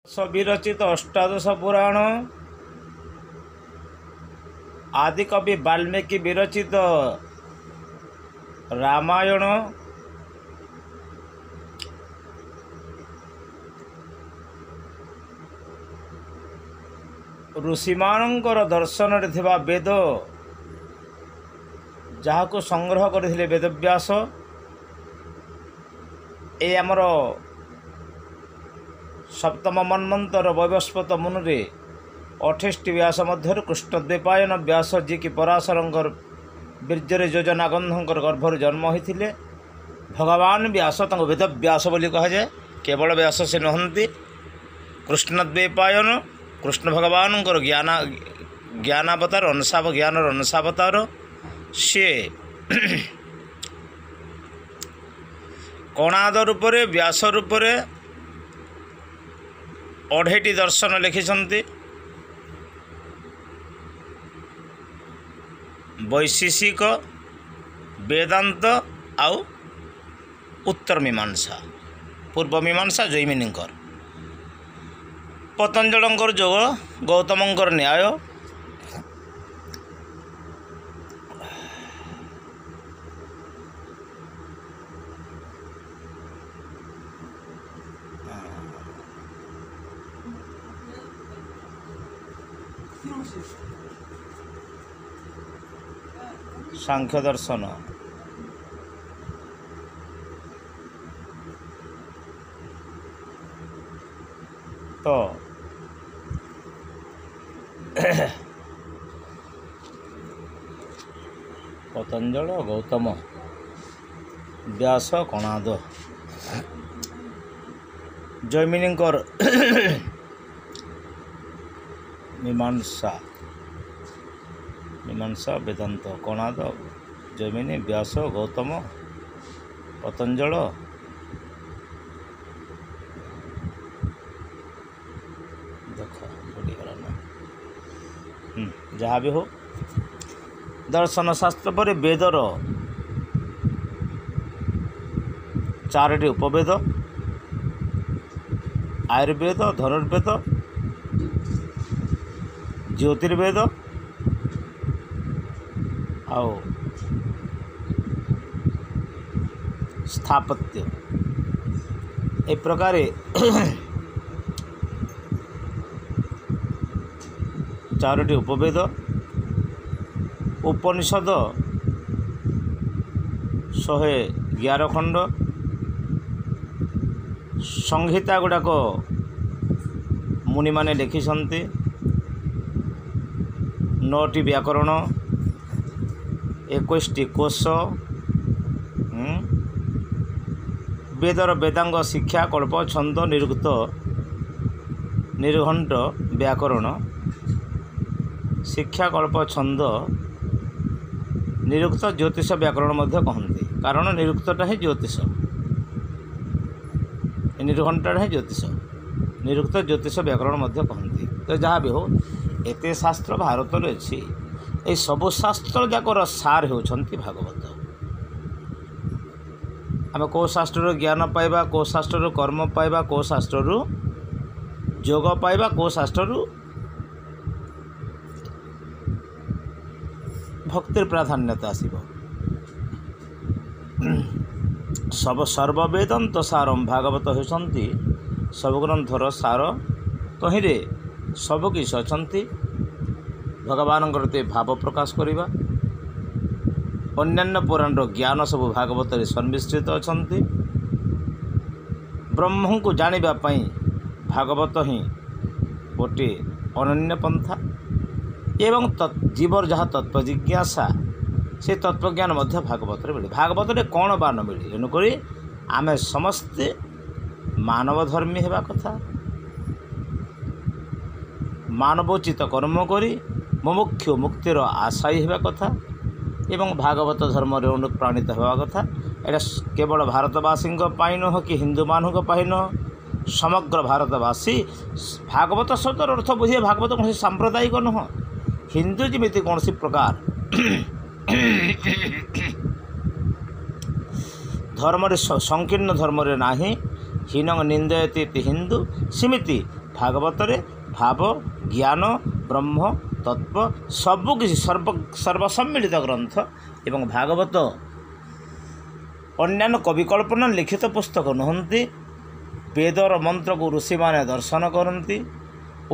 ବିରଚିତ ଅଷ୍ଟାଦଶ ପୁରାଣ, ଆଦିକବି ବାଲ୍ମୀକି ବିରଚିତ ରାମାୟଣ, ଋଷିମାନଙ୍କର ଦର୍ଶନରେ ଥିବା ବେଦ ଯାହାକୁ ସଂଗ୍ରହ କରିଥିଲେ ବେଦବ୍ୟାସ, ଏ ଆମର ସପ୍ତମ ମନ୍ବନ୍ତର ବୈବସ୍ୱତ ମୁନରେ 28ଟି ବ୍ୟାସ ମଧ୍ୟରୁ କୃଷ୍ଣଦ୍ୱୈପାୟନ ବ୍ୟାସ, ଯିଏକି ପରାଶରଙ୍କର ବୀର୍ଯ୍ୟରେ ଯୋଜନାଗନ୍ଧଙ୍କର ଗର୍ଭରୁ ଜନ୍ମ ହୋଇଥିଲେ, ଭଗବାନ ବ୍ୟାସ, ତାଙ୍କୁ ବେଦବ୍ୟାସ ବୋଲି କୁହାଯାଏ। କେବଳ ବ୍ୟାସ ସେ ନୁହନ୍ତି, କୃଷ୍ଣଦ୍ୱୈପାୟନ କୃଷ୍ଣ ଭଗବାନଙ୍କର ଜ୍ଞାନାବତାର, ଅଂଶାବ ଜ୍ଞାନର ଅଂଶାବତାର। ସିଏ କଣାଦ ରୂପରେ ବ୍ୟାସ ରୂପରେ 2.5ଟି ଦର୍ଶନ ଲେଖିଛନ୍ତି। ବୈଶେଷିକ, ବେଦାନ୍ତ ଆଉ ଉତ୍ତର ମୀମାଂସା, ପୂର୍ବ ମୀମାଂସା ଜୈମିନୀଙ୍କର, ପତଞ୍ଜଳଙ୍କର ଯୋଗ, ଗୌତମଙ୍କର ନ୍ୟାୟ, ସାଂଖ୍ୟ ଦର୍ଶନ। ତ ପତଞ୍ଜଳ, ଗୌତମ, ବ୍ୟାସ, କଣାଦ, ଜୈମିନୀଙ୍କର ମୀମାଂସା, ମୀମାଂସା, ବେଦାନ୍ତ, କଣାଦ, ଜୈମିନୀ, ବ୍ୟାସ, ଗୌତମ, ପତଞ୍ଜଳ, ଦେଖ ଭୁଲିଗଲା ନା, ଯାହା ବି ହଉ, ଦର୍ଶନ ଶାସ୍ତ୍ର ପରେ ବେଦର 4ଟି ଉପବେଦ, ଆୟୁର୍ବେଦ, ଧନୁର୍ବେଦ, ଜ୍ୟୋତିର୍ବେଦ ଆଉ ସ୍ଥାପତ୍ୟ। ଏ ପ୍ରକାରେ 4ଟି ଉପବେଦ, ଉପନିଷଦ 111 ଖଣ୍ଡ, ସଂହିତା ଗୁଡ଼ାକ ମୁନିମାନେ ଲେଖିଛନ୍ତି, 9ଟି ବ୍ୟାକରଣ, 21ଟି କୋଷ, ବେଦର ବେଦାଙ୍ଗ ଶିକ୍ଷା, କଳ୍ପ, ଛନ୍ଦ, ନିରୁକ୍ତ, ନିର୍ଘଣ୍ଟ, ବ୍ୟାକରଣ, ଶିକ୍ଷା, କଳ୍ପ, ଛନ୍ଦ, ନିରୁକ୍ତ, ଜ୍ୟୋତିଷ ବ୍ୟାକରଣ ମଧ୍ୟ କହନ୍ତି। କାରଣ ନିରୁକ୍ତଟା ହିଁ ଜ୍ୟୋତିଷ, ନିର୍ଘଣ୍ଟଟା ହିଁ ଜ୍ୟୋତିଷ, ନିରୁକ୍ତ ଜ୍ୟୋତିଷ ବ୍ୟାକରଣ ମଧ୍ୟ କହନ୍ତି। ତ ଯାହା ବି ହଉ, ଏତେ ଶାସ୍ତ୍ର ଭାରତରେ ଅଛି। ଏଇ ସବୁ ଶାସ୍ତ୍ର ଯାକର ସାର ହେଉଛନ୍ତି ଭାଗବତ। ଆମେ କେଉଁ ଶାସ୍ତ୍ରରୁ ଜ୍ଞାନ ପାଇବା, କେଉଁ ଶାସ୍ତ୍ରରୁ କର୍ମ ପାଇବା, କେଉଁ ଶାସ୍ତ୍ରରୁ ଯୋଗ ପାଇବା, କେଉଁ ଶାସ୍ତ୍ରରୁ ଭକ୍ତିର ପ୍ରାଧାନ୍ୟତା ଆସିବ। ସବୁ ସର୍ବବେଦନ୍ତ ସାରମ୍ ଭାଗବତ ହେଉଛନ୍ତି ସବୁ ଗ୍ରନ୍ଥର ସାର। ତହିଁରେ ସବୁ କିଛି ଅଛନ୍ତି। ଭଗବାନଙ୍କର ଭାବ ପ୍ରକାଶ କରିବା, ଅନ୍ୟାନ୍ୟ ପୁରାଣର ଜ୍ଞାନ ସବୁ ଭାଗବତରେ ସନ୍ମିଶ୍ରିତ ଅଛନ୍ତି। ବ୍ରହ୍ମଙ୍କୁ ଜାଣିବା ପାଇଁ ଭାଗବତ ହିଁ ଗୋଟିଏ ଅନନ୍ୟ ପନ୍ଥା ଏବଂ ଜୀବର ଯାହା ତତ୍ତ୍ୱ ଜିଜ୍ଞାସା, ସେ ତତ୍ତ୍ୱଜ୍ଞାନ ମଧ୍ୟ ଭାଗବତରେ ମିଳେ। ଭାଗବତରେ କ'ଣ ବା ନ ମିଳେ? ତେଣୁକରି ଆମେ ସମସ୍ତେ ମାନବ ଧର୍ମୀ ହେବା କଥା, ମାନବୋଚିତ କର୍ମ କରି ମୁମୁକ୍ଷୁ ମୁକ୍ତିର ଆଶାୟୀ ହେବା କଥା ଏବଂ ଭାଗବତ ଧର୍ମରେ ଅନୁପ୍ରାଣିତ ହେବା କଥା। ଏଇଟା କେବଳ ଭାରତବାସୀଙ୍କ ପାଇଁ ନୁହଁ କି ହିନ୍ଦୁମାନଙ୍କ ପାଇଁ ନୁହଁ, ସମଗ୍ର ଭାରତବାସୀ ଭାଗବତ ଶବ୍ଦର ଅର୍ଥ ବୁଝିବେ। ଭାଗବତ କୌଣସି ସାମ୍ପ୍ରଦାୟିକ ନୁହଁ। ହିନ୍ଦୁ ଯେମିତି କୌଣସି ପ୍ରକାର ଧର୍ମରେ ସଂକୀର୍ଣ୍ଣ ଧର୍ମରେ ନାହିଁ, ହୀନ ନିନ୍ଦୟତି ହିନ୍ଦୁ, ସେମିତି ଭାଗବତରେ ଭାବ, ଜ୍ଞାନ, ବ୍ରହ୍ମ ତତ୍ତ୍ୱ ସବୁକିଛି ସର୍ବସମ୍ମିଳିତ ଗ୍ରନ୍ଥ। ଏବଂ ଭାଗବତ ଅନ୍ୟାନ୍ୟ କବିକଳ୍ପନା ଲିଖିତ ପୁସ୍ତକ ନୁହନ୍ତି। ବେଦର ମନ୍ତ୍ରକୁ ଋଷିମାନେ ଦର୍ଶନ କରନ୍ତି।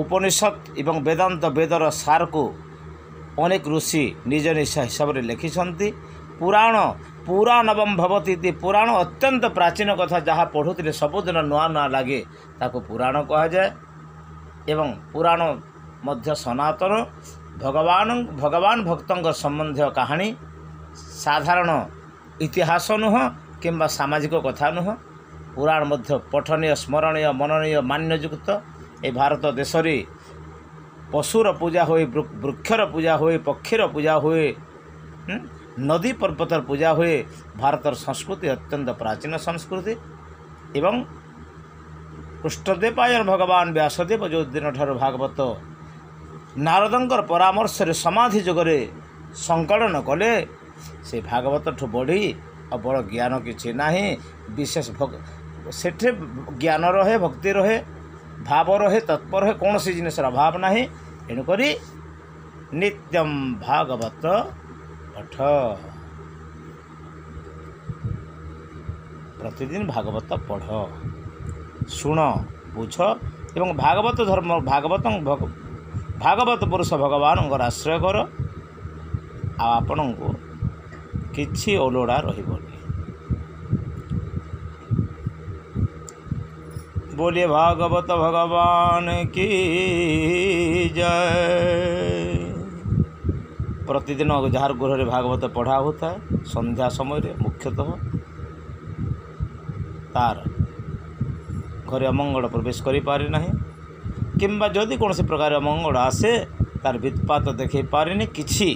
ଉପନିଷଦ ଏବଂ ବେଦାନ୍ତ ବେଦର ସାରକୁ ଅନେକ ଋଷି ନିଜ ନିଜ ହିସାବରେ ଲେଖିଛନ୍ତି। ପୁରାଣ ପୁରାଣବମ ଭବତି ଇତି, ପୁରାଣ ଅତ୍ୟନ୍ତ ପ୍ରାଚୀନ କଥା, ଯାହା ପଢ଼ୁଥିଲେ ସବୁଦିନ ନୂଆ ନୂଆ ଲାଗେ, ତାକୁ ପୁରାଣ କୁହାଯାଏ। ଏବଂ ପୁରାଣ ମଧ୍ୟ ସନାତନ ଭଗବାନ ଭକ୍ତଙ୍କ ସମ୍ବନ୍ଧୀୟ କାହାଣୀ, ସାଧାରଣ ଇତିହାସ ନୁହଁ କିମ୍ବା ସାମାଜିକ କଥା ନୁହଁ। ପୁରାଣ ମଧ୍ୟ ପଠନୀୟ, ସ୍ମରଣୀୟ, ମନନୀୟ, ମାନ୍ୟଯୁକ୍ତ। ଏ ଭାରତ ଦେଶରେ ପଶୁର ପୂଜା ହୁଏ, ବୃକ୍ଷର ପୂଜା ହୁଏ, ପକ୍ଷୀର ପୂଜା ହୁଏ, ନଦୀ ପର୍ବତର ପୂଜା ହୁଏ। ଭାରତର ସଂସ୍କୃତି ଅତ୍ୟନ୍ତ ପ୍ରାଚୀନ ସଂସ୍କୃତି। ଏବଂ କୃଷ୍ଣଦେବାୟନ ଭଗବାନ ବ୍ୟାସଦେବ ଯେଉଁ ଦିନଠାରୁ ଭାଗବତ ନାରଦଙ୍କର ପରାମର୍ଶରେ ସମାଧି ଯୋଗରେ ସଂକଳନ କଲେ, ସେ ଭାଗବତଠୁ ବଢ଼ି ଆଉ ବଡ଼ ଜ୍ଞାନ କିଛି ନାହିଁ। ବିଶେଷ ସେଠି ଜ୍ଞାନ ରହେ, ଭକ୍ତି ରହେ, ଭାବ ରହେ, ତତ୍ପର ରହେ, କୌଣସି ଜିନିଷର ଅଭାବ ନାହିଁ। ଏଣୁକରି ନିତ୍ୟମ ଭାଗବତ ପଠ, ପ୍ରତିଦିନ ଭାଗବତ ପଢ଼, ଶୁଣ, ବୁଝ ଏବଂ ଭାଗବତ ଧର୍ମ, ଭାଗବତ ପୁରୁଷ ଭଗବାନଙ୍କର ଆଶ୍ରୟ କର, ଆଉ ଆପଣଙ୍କୁ କିଛି ଅଲୋଡ଼ା ରହିବନି। बोलिए भागवत भगवान की जय। ପ୍ରତିଦିନ ଯାହାର ଗୃହରେ ଭାଗବତ ପଢ଼ା ହେଉଥାଏ ସନ୍ଧ୍ୟା ସମୟରେ ମୁଖ୍ୟତଃ, ତାର ଘରେ ଅମଙ୍ଗଳ ପ୍ରବେଶ କରିପାରେ ନାହିଁ, କିମ୍ବା ଯଦି କୌଣସି ପ୍ରକାର ଅମଙ୍ଗଳ ଆସେ ତାର ବିତ୍ପାତ ଦେଖାଇ ପାରେନି, କିଛି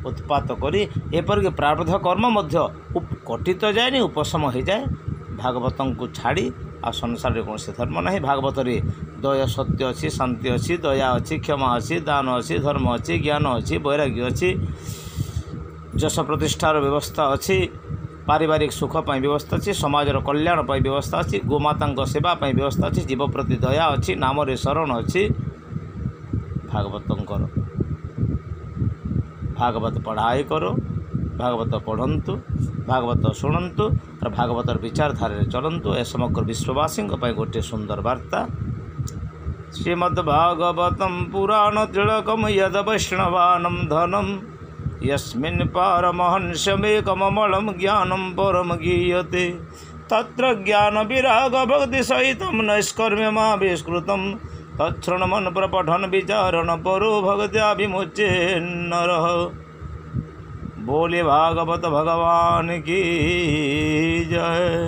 ଉତ୍ପାତ କରି, ଏପରିକି ପ୍ରାରବ୍ଧ କର୍ମ ମଧ୍ୟ କଟିତ ଯାଏନି, ଉପଶମ ହୋଇଯାଏ। ଭାଗବତଙ୍କୁ ଛାଡ଼ି ଆଉ ସଂସାରରେ କୌଣସି ଧର୍ମ ନାହିଁ। ଭାଗବତରେ ଦୟ ସତ୍ୟ ଅଛି, ଶାନ୍ତି ଅଛି, ଦୟା ଅଛି, କ୍ଷମା ଅଛି, ଦାନ ଅଛି, ଧର୍ମ ଅଛି, ଜ୍ଞାନ ଅଛି, ବୈରାଗ୍ୟ ଅଛି, ଯଶ ପ୍ରତିଷ୍ଠାର ବ୍ୟବସ୍ଥା ଅଛି, ପାରିବାରିକ ସୁଖ ପାଇଁ ବ୍ୟବସ୍ଥା ଅଛି, ସମାଜର କଲ୍ୟାଣ ପାଇଁ ବ୍ୟବସ୍ଥା ଅଛି, ଗୋମାତାଙ୍କ ସେବା ପାଇଁ ବ୍ୟବସ୍ଥା ଅଛି, ଜୀବ ପ୍ରତି ଦୟା ଅଛି, ନାମରେ ଶରଣ ଅଛି। ଭାଗବତଙ୍କର ଭାଗବତ ପଢ଼ାଇ କର, ଭାଗବତ ପଢ଼ନ୍ତୁ, ଭାଗବତ ଶୁଣନ୍ତୁ, ଭାଗବତର ବିଚାରଧାରାରେ ଚଲନ୍ତୁ। ଏ ସମଗ୍ର ବିଶ୍ୱବାସୀଙ୍କ ପାଇଁ ଗୋଟିଏ ସୁନ୍ଦର ବାର୍ତ୍ତା। ଶ୍ରୀମଦ୍ ଭାଗବତಂ ପୁରାଣ ତିଳକମ ୟଦ ବୈଷ୍ଣବାନಂ ଧନಂ ୟସ୍ମିନ୍ ପାରମହଂସମେକମମଳಂ ଜ୍ଞାନಂ ପରମ ଗୀୟତେ ତତ୍ର ଜ୍ଞାନ ବିରାଗ ଭକ୍ତି ସହିତಂ ନୈଷ୍କର୍ମ୍ୟମାବିଷ୍କୃତಂ ତଚ୍ଛୃଣ୍ମନ୍ ପ୍ରପଠନ ବିଚାରଣ ପରୋ ଭକ୍ତ୍ୟା ବିମୁଚେନ୍ନରଃ। बोले भागवत भगवान की जय।